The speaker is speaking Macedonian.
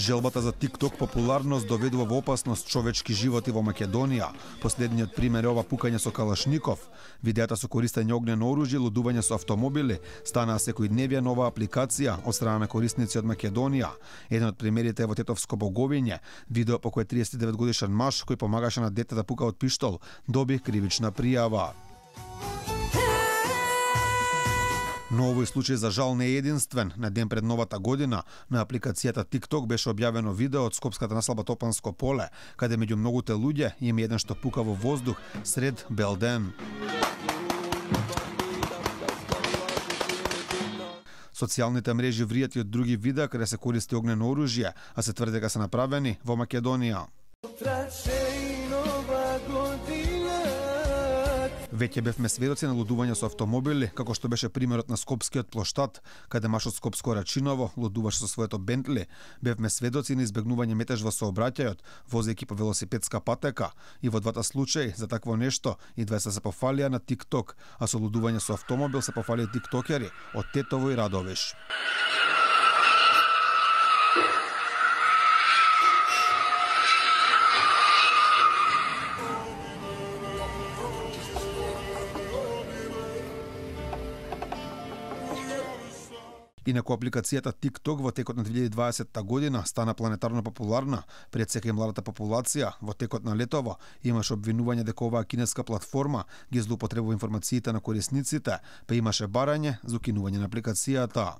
Желбата за TikTok популарност доведува во опасност човечки животи во Македонија. Последниот пример е ова пукање со калашников. Видеата со користење огнено оружје, лудување со автомобили станаа секојдневија нова апликација од страна на корисници од Македонија. Еден од примерите е во Тетовско Боговиње. Видео по кое 39 годишен маж кој помагаше на дете да пука од пиштол доби кривична пријава. Но овој случај за жал не е единствен. На ден пред новата година на апликацијата TikTok беше објавено видео од скопската населба Топанско поле, каде меѓу многуте луѓе има еден што пука во воздух сред бел ден. Социјалните мрежи вријат и од други видеа каде се користи огнено оружје, а се тврди дека се направени во Македонија. Веќе бевме сведоци на лудување со автомобили, како што беше примерот на скопскиот плоштад, каде маж од Скопско Рачиново лудуваше со своето Бентли. Бевме сведоци на избегнување метеж во сообраќајот, возејќи по велосипедска патека. И во двата случаи за такво нешто и двајца се пофалија на TikTok, а со лудување со автомобил се пофалија тиктокери од Тетово и Радовиш. Инаку апликацијата TikTok во текот на 2020 година стана планетарно популарна. Пред сека и младата популација во текот на летово имаше обвинување дека оваа кинеска платформа ги злоупотребува информациите на корисниците, па имаше барање за укинување на апликацијата.